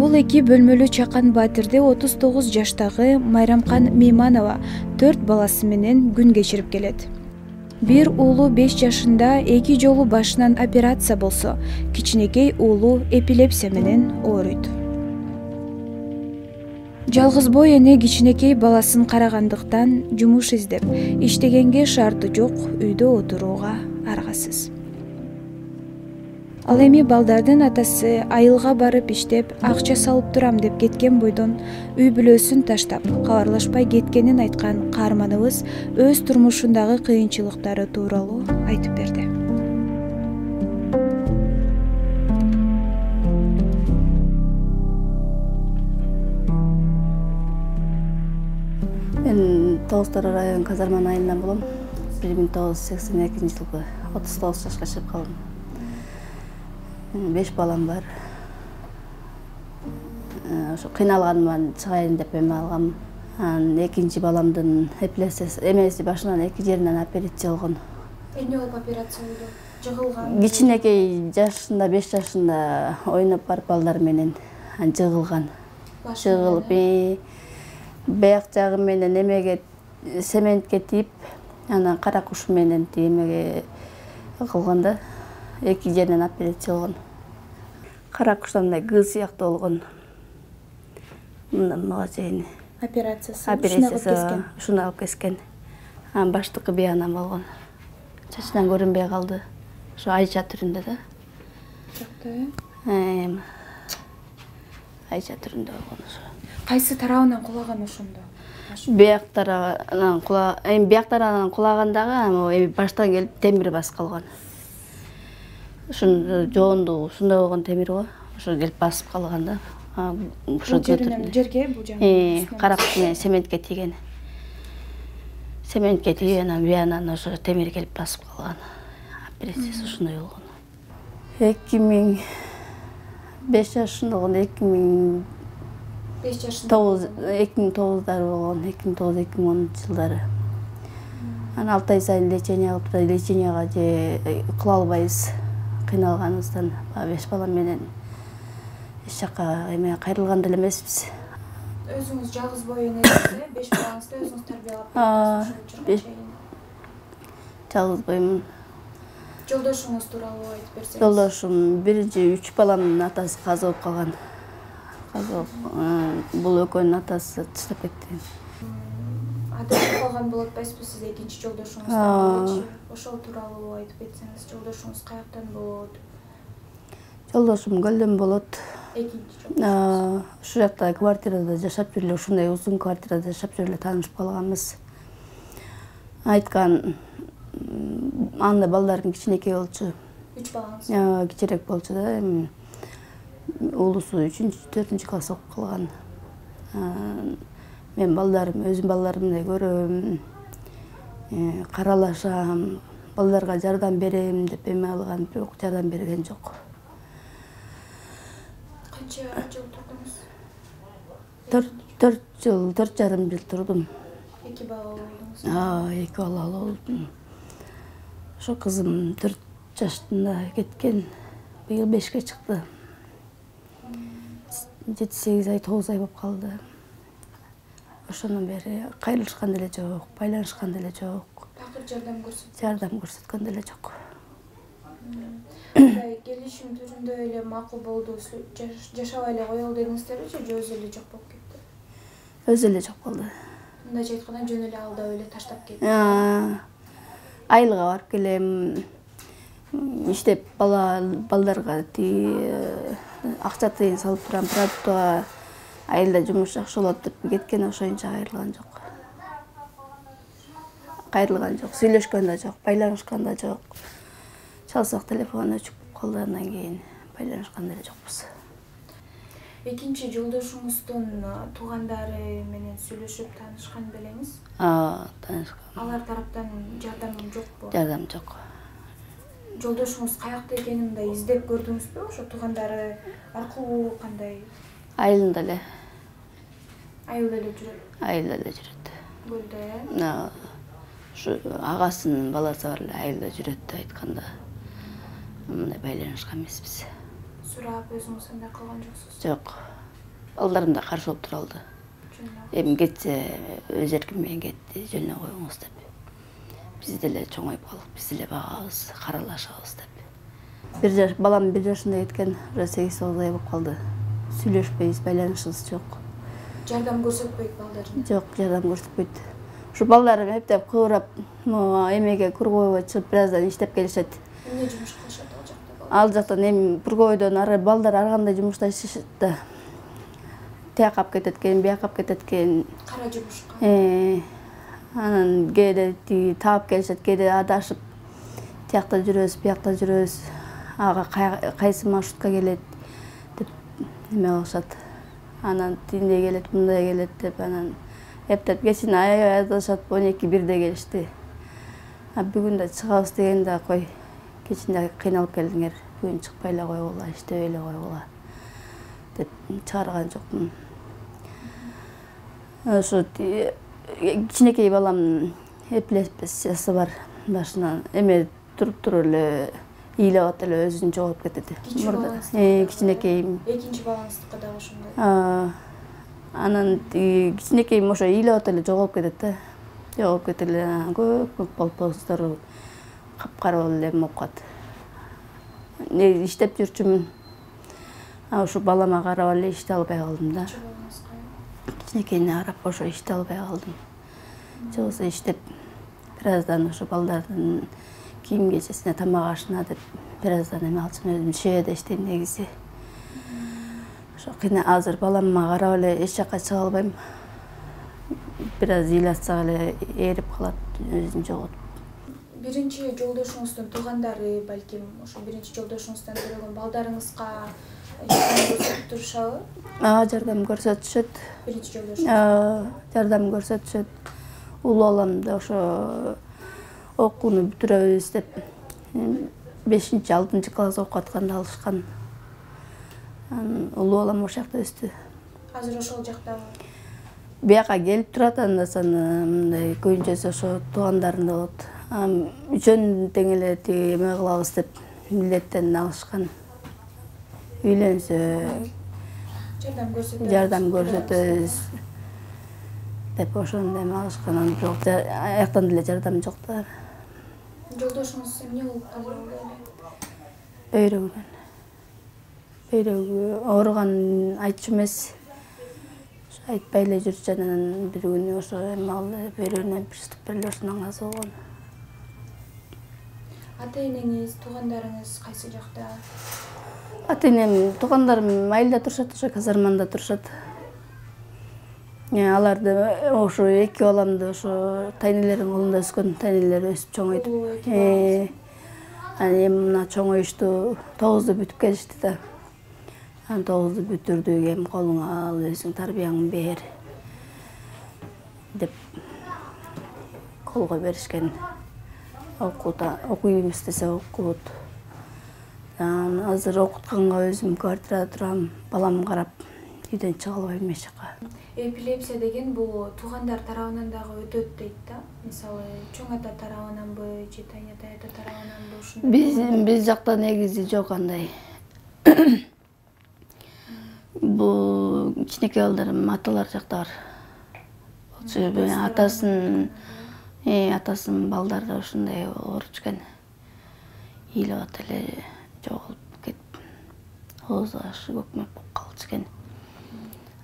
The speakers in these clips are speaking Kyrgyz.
Бул 2 бөлмөлүү чакан батирде 39 жаштагы Майрамкан Мейманова 4 баласы менен күн кечирип келет. Бир уулу 5 жашында 2 жолу башынан операция болсо, кичинекей уулу эпилепсия менен ооруйт. Жалгыз бой эне кичинекей баласын карагандыктан жумуш издеп, иштегенге шарты жок, үйдө отурууга аргасыз. Ал эми балдардын атасы айылга барып иштеп, акча салып турам деп кеткен бойдон үй бүлөсүн таштап, кабарлашпай кеткенин айткан каарманыбыз өз турмушундагы кыйынчылыктары тууралуу айтып берди. Мен Тоостор район Казарман айылынан болом. 1982 жылы 39 жашка чыгып калдым. 5 балам бар. Ошо кыйналганыман чыгайын деп эме алгам. Экинчи баламдын эпилепсиясы эмеси башынан 2 жеринен операция болгон. Эмне болуп операция болду? Жыгылган. Кичинекей жашында 5 жашында ойноп барып балдар менен жыгылган. Жыгылып бияк жагы менен эмеге сементке тийип, анан кара куш менен эмеге кылганда 2 жеринен операция болгон. Кара куштан мындай Г сыяктуу болгон. Мындан мага чейин операциясы ушуну алып кескен. Анан баштыкы биянан болгон. Чачынан көрүнбөй калды. Ошо айча түрүндө да. Айча түрүндө болгон ошо. Кайсы тарабынан кулаган ошондо? Бияк тарабынан кулагандагы баштан келип темир басып калган. Ушун жоонду ушундай болгон темир го. Ошо келип басып калган да. Ошо жерге бул жагы. Кара куш менен сементке тийген. Сементке тийип анан биянан ошо темир келип басып калган. Операциясы ушундай болгон. 2005 жашында болгон, 2009-дар болгон, 2009-2010 жылдары. Анан 6 ай сайын лечение кылып турат, леченияга же кыла албайбыз. Кыйналганыбыздан 5 балам менен эч жака эме кайрылган деле эмеспиз. Өзүңүз жалгыз бой энесиз, 5 балаңызды өзүңүз тарбиялап бересиз. Жалгыз боймун. Жолдошуңуз тууралуу айтып берсеңиз. Жолдошум биринчи 3 баламдын атасы каза болуп калган. Бул экөөнүн атасы таштап кетти. Адашып калган болуп атпайсызбы сиз экинчи жолдошуңуздан? Ошол тууралуу айтып кетсеңиз, жолдошуңуз каяктан болот? Жолдошум Көлдөн болот. Экинчи жолдошуңуз. Ушул жакта квартирада жашап жүрүп эле, ушундай узун квартирада жашап жүрүп эле таанышып калганбыз. Айткан анда балдарым кичинекей болчу. 3 балаңыз? Кичирээк болчу да. Уулусу 3-4 класс окуп калган. Мен өзүм балдарымдай көрөм, каралашам, балдарга жардам берем деп эме алган, бирок жардам берген жок. Канча жыл турдуңуз? 4 жыл, 4,5 жыл турдум. 2 бала болдуңуз? 2 бала болдум. Ошо кызым 4 жашында кеткен, быйыл 5ке чыкты. 7-8 ай, 9 ай болуп калды. Ошондон бери кайрылышкан деле жок, байланышкан деле жок. Такыр жардам көрсөткөн? Жардам көрсөткөн деле жок. Келишим түрүндө эле макул болду, жашабай эле коелу дедиңиздерби же өзү эле жок болуп кетти? Өзү эле жок болду. Мындайча айтканда жөн эле алдап эле таштап кетти. Айылга барып келем, иштеп балдарга акча тыйын салып турам, продуктага айылда жумуш жакшы болот деп кеткен, ошоюнча кайрылган жок. Сүйлөшкөн да жок, байланышкан да жок. Чалсак телефон өчүп калды, андан кийин байланышкан деле жокпуз. Экинчи жолдошуңуздун туугандары менен сүйлөшүп таанышкан белеңиз? Таанышкан. Алар тараптан жардам жокпу? Жардам жок. Жолдошуңуз каякта экенин мындай издеп көрдүңүзбү? Ошо туугандары аркылуу кандай? Айылында эле. Айылда эле жүрөт? Айылда эле жүрөт. Көлдө, Ушу агасынын баласы бар эле айылда жүрөт деп айтканда, мындай байланышкан эмеспиз. Сурап өзүңүз андай кылган жоксуз? Жок. балдарым да каршы болуп тура алды. Эми кетсе өз эркин менен кетти, жөнөй коюңуз деп. Биз деле чоңоюп калдык, биз деле багабыз, каралашабыз деп. Балам 1 жашында кеткен, уже 8-9 ай болуп калды. Сүйлөшпөйбүз, байланышыбыз жок. Жардам көрсөтпөйт балдарына? Жок, жардам көрсөтпөйт. Ушу балдарым эптеп кыбырап, эмеге Кургоево чыгып бираздан иштеп келишет. Эмне жумуш кылышат ал жакта? Ал жактан эми Кургоевдон ары балдар ар кандай жумушташышат да. Тияк алып кетет экен, бияк алып кетет экен. Кара жумушка. Анан кээде таап келишет, кээде адашып тиякта жүрөбүз, биякта жүрөбүз. Ага кайсы маршрутка келет деп эме кылышат. Анан тиндей келет, мындай келет деп анан эптеп кечин аябай адашат, 12-1де келишти. Бүгүн да чыгабыз дегенде кой, кечинде кыйналып келдиңер, бүгүн чыкпай эле койгула, иштебей эле койгула деп чыгарган жокмун. Ошо кичинекей балам эпилепсиясы бар башынан. Эме туруп эле ыйлап атат эле өзүн жоготуп кетет. Кичинекейим. Экинчи балаңыздыкы дагы ошондой. Анан кичинекейим ошо ыйлап атат эле жоголуп кетет да. Жоголуп кетип эле көп болсоздору капкара болуп эле болуп калат. Иштеп жүрчүмүн. Ошо балама карап эле иште албай калдым да. Кичинекейине карап ошо иште албай калдым. Жоксо иштеп бираздан ошо балдардын кийим кечесине, тамак ашына деп бираздан эме алчумун. Өзүм швейда иштейм негизи. Ошо азыр балама карап эле эч жакка чыга албайм. Бираз ыйлатсак эле ээрип калат, өзүн жоготуп. Биринчи жолдошуңуздун туугандары, балким ошо биринчи жолдошуңуздан төрөгөн балдарыңызга жардам көрсөтүп турушабы? Жардам көрсөтүшөт. Биринчи жолдош. Жардам көрсөтүшөт. Улуу баламды ошо окууну бүтүрөбүз деп 5-6 класс окуп атканда алышкан. Улуу балам ошол жакта өстү. Азыр ошол жактабы? Бияка келип турат, анда-санда мындай көбүнчөсү ошо туугандарында болот. Үчөн тең эле тиги эме кылабыз деп милдеттен алышкан. Үйлөнсө жардам көрсөтөбүз деп ошондой эме алышкан. Бирок аяктан деле жардам жок да. Жолдошуңуз эмне болуп калды? Бөйрөгү ооруган айтчу эмес. Айтпай эле жүрчү, анан бир күнү ошо эме алды, бөйрөгүнөн приступ эле ошондон каза болгон. Ата-энеңиз, туугандарыңыз кайсы жакта? Ата-энем, туугандарым айылда турушат, ошо казарманда турушат. Аларды ошо 2 баламды ошо тайнелердин колунда өскөн, тайнелер өсүп чоңойдуп. Анан эми мына чоңоюшту, 9-ду бүтүп келишти да. Анан 9-ду бүтүрдүк, эми колуңа ал, өзүң тарбияңды бер деп колго беришкен. Окуйм истесе окут. Азыр окутканга өзүм квартирада турам, балам карап, үйдөн чыга албайм эч жака. Эпилепсия деген бул туугандар тарабынан дагы өтөт дейт да. Мисалы, чоң ата тарабынанбы, же тайнетай ата тарабынанбы ушундай? Биз жакта негизи жок андай. Бул кичинекей балдарым аталар жакта бар. Атасынын балдары ушундай ооруп экен. Ыйлап атат эле жоголуп кетип, ооз ашы көкмөк болуп калчу экен.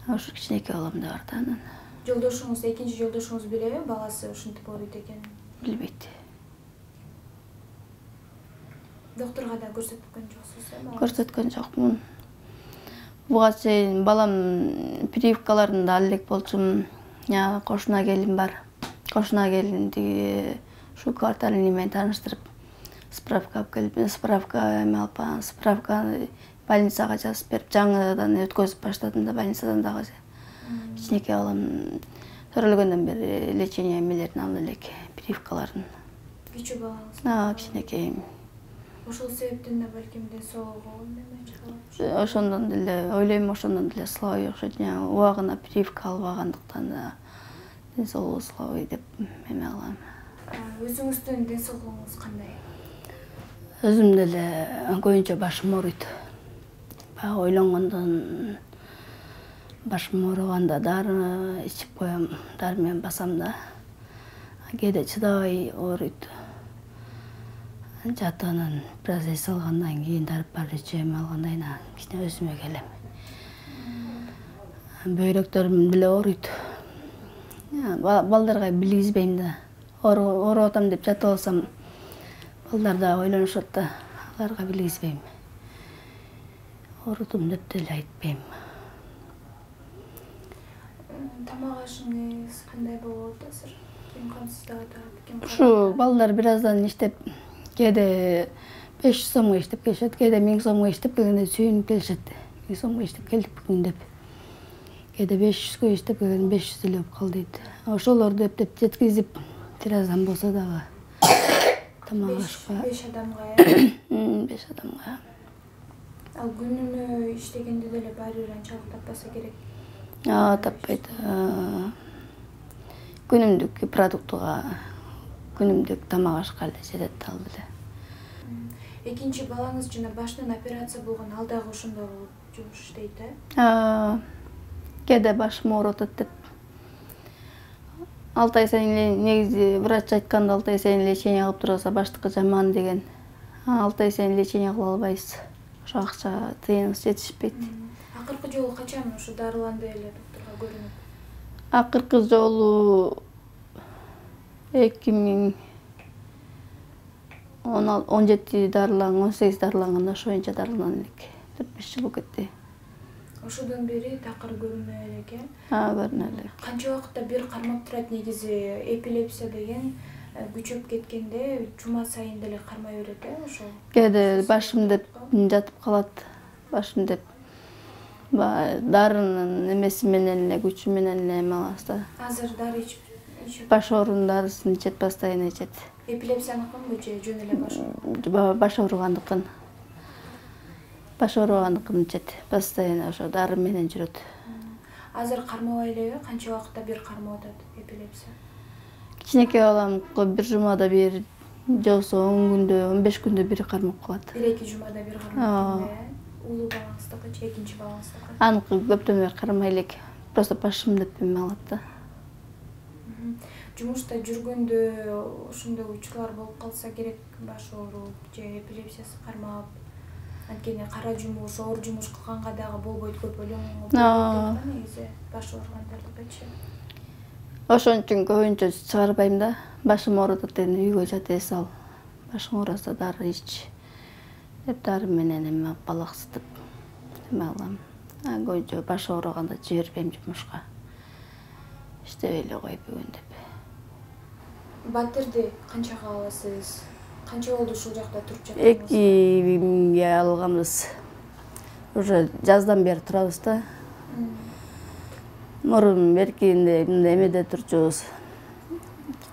Ошо кичинекей балам да бар да анан. Жолдошуңуз, экинчи жолдошуңуз билеби, баласы ушинтип ооруйт экенин? Билбейт. Доктурга да көрсөткөн жоксуз, э? Көрсөткөн жокмун. Буга чейин балам прививкаларында ал элек болчумун. Кошуна келин бар. Кошуна келин тиги ушу квартальный менен тааныштырып, справка алып келип, справка эме алып, справка больницага жазып берип, жаңыдан өткөзүп баштадым да больницадан дагы. Кичинекей балам төрөлгөндөн бери лечение эмелерин алып элек, прививкаларын. Кичүү балаңыз? Кичинекейим. Ошол себептен да балким ден соолугу эме чыгып. Ошондон деле ойлойм, ошондон деле слабый окшойт. Убагына прививка албагандыктан да ден соолугу слабый деп эме кылам. Өзүңүздүн ден соолугуңуз кандай? Өзүм деле көбүнчө башым ооруйт. Баягы ойлонгондон башым оорuganda дары ичип коем, дары менен басам да. Кээде чыдабай ооруйт. Жатып анан бир аз эс алгандан кийин дары ичем, алгандан кийин кичине өзүмө келем. Бөйрөктөрүм деле ооруйт. Балдарга билгизбейм да. Ооруп атам деп жатып алсам, балдар да ойлонушат да, аларга билгизбейм. Оорудум деп деле айтпайм. Тамак ашыңыз кандай болот азыр? Ким камсыздап атат, ким Ушу балдар бир аздан иштеп, кээде 500 сомго иштеп келишет, кээде 1000 сомго иштеп келгенде сүйүнүп келишет. 1000 сомго иштеп келдик бүгүн деп. Кээде 500гө иштеп келген 500 эле болуп калды дейт. Ошолорду эптеп жеткизип, бир аздан болсо дагы тамак ашка. 5 адамга, 5 адамга. Ал күнүнө иштегенде деле баары бир анчалык таппаса керек. Таппайт. Күнүмдүк продуктуга, күнүмдүк тамак ашка эле жетет ал деле. Экинчи балаңыз жана башынан операция болгон, ал дагы ошондой болуп жумуш иштейт, э? Кээде башым ооруп атат деп. 6 ай сайын эле негизи врач айтканда 6 ай сайын лечение алып турса баштыкы жаман деген. 6 ай сайын лечение кыла албайсыз. Ошо акча тыйыныбыз жетишпейт. Акыркы жолу качан ушу дарыланды эле доктурга көрүнүп? Акыркы жолу 2017 дарыланган, 18 дарыланганда ошо боюнча дарыланган элек. 4-5 жыл болуп кетти. Ошодон бери такыр көрүнбөй элек, э? Көрүнө элек. Канча убакытта бир кармап турат? Негизи эпилепсия деген күчөп кеткенде жума сайын деле кармай берет, э? Ошо. Кээде башым деп жатып калат. Башым деп. Дарынын эмеси менен эле, күчү менен эле эме алабыз да. Азыр дары ичип? Баш оорунун дарысын ичет, постоянно ичет. Эпилепсияныкынбы же жөн эле баш ооругу? Баш ооругандыкын. Баш ооругандыкын ичет. Постоянно ошо дары менен жүрөт. Азыр кармабай элеби? Канча убакытта бир кармап атат эпилепсия? Кичинекей балам бир жумада бир, же болбосо 10 күндө, 15 күндө бир кармап калат. 1-2 жумада бир кармап келе. Улуу балаңыздыкычы, экинчи балаңыздыкы? Аныкы көптөн бери кармай элек. Просто башым деп эме алат да. Жумушта жүргөндө ошондой учурлар болуп калса керек, баш ооруп же эпилепсиясы кармап, анткени кара жумуш, оор жумуш кылганга дагы болбойт, көп өлөң болбойт негизи баш ооругандардыкычы. Ошон үчүн көбүнчө чыгарбайм да. Башым ооруп атат деген үйгө жат эс ал. Башың ооруса дары ич. Деп дары менен эме балаксытып эме алам. Көбүнчө баш ооруганда жибербейм жумушка. İşte эле коюп бүгүн деп. Батирди канчага аласыз? Канча болду ушул жакта туруп жатканыңыз? 2000ге алганбыз. Уже жаздан бери турабыз да. Мурун беркинде эмеде турчубуз.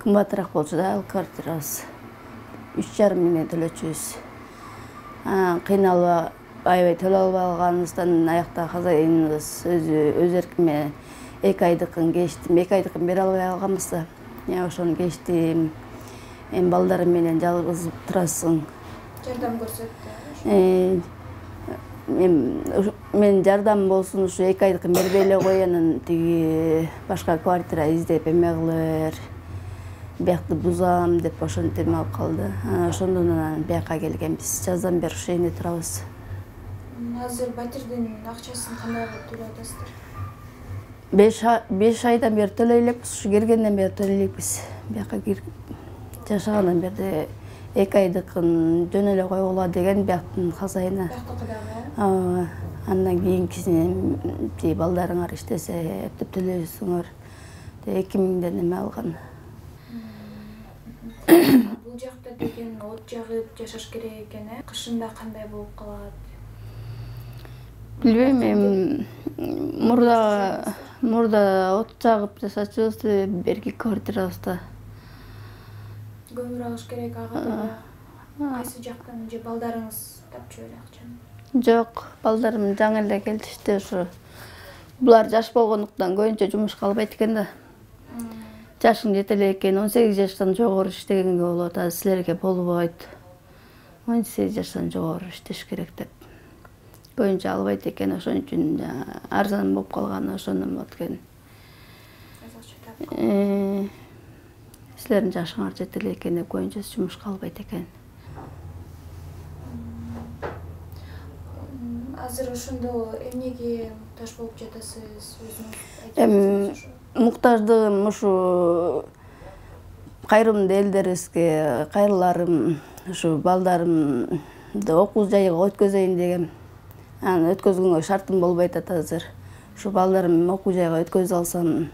Кымбатыраак болчу да ал квартирабыз. 3,5 миңге төлөчүбүз. Кыйналып аябай төлөп албай калганыбыздан аякта хозяиныбыз өз эркиме 2 айдыкын кечтим. 2 айдыкын бере албай калганбыз да. Ошону кечтим. Балдарым менен жалгыз турасың. Жардам көрсөттү. Мен жардам болсун ушу 2 айдыкын бербей эле кой, анан тиги башка квартира издеп эме кылыр. Биякты бузам деп ошентип эме алып калды. Ошондон анан бияка келгенбиз. Жаздан бери ушул жерде турабыз. Азыр батирдин акчасын кандай кылып төлөп атасыздар? 5 айдан бери төлөй элекпиз, ушу келгенден бери төлөй элекпиз. Бияка жашагандан бери 2 айдыкын жөн эле койгула деген бияктын хозяйыны. Бияктыкы дагы? Андан кийинкисин балдарыңар иштесе эптеп төлөйсүңөр. 2000ден эме алган. Бул жакта деген от жагып жашаш керек экен, э? Кышында кандай болуп калат? Билбейм, мурда от жагып жашачубуз, берки квартирабызда. Көмүр алыш керек ага да. Кайсы жактан же балдарыңыз тапчу эле акчаны? Жок, балдарым жаңы эле келишти ушу. Булар жаш болгондуктан көбүнчө жумушка албайт экен да. Жашың жете эле экен, 18 жаштан жогору иштегенге болот, а силерге болбойт. 18 жаштан жогору иштеш керек деп. боюнча албайт экен, ошон үчүн арзан болуп калган, ошондон болот экен. Силердин жашыңар жете эле экен деп көбүнчөсү жумушка албайт экен. Азыр ошондо эмнеге муктаж болуп жатасыз өзүңүз? Муктаждыгым ушу кайрымдуу элдерибизге кайрыларым, ушу балдарымды окуу жайга өткөзөйүн дегем. Аны өткөзгөнгө шартым болбой атат азыр. Ушу балдарым окуу жайга өткөзүп алсам,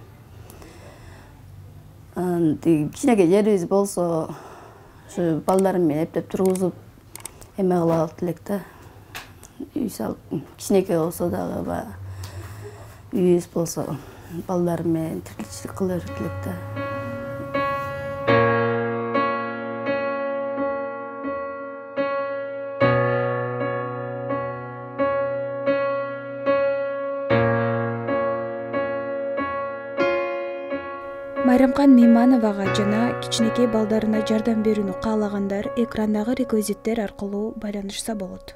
кичинекей жерибиз болсо, ушу балдарым менен эптеп тургузуп эме кыла алат элек да. Үй салып, кичинекей болсо дагы үйүбүз болсо, балдарым менен тиричилик кыла берет элек да. Майрамкан Меймановага жана кичинекей балдарына жардам берүүнү каалагандар экрандагы реквизиттер аркылуу байланышса болот.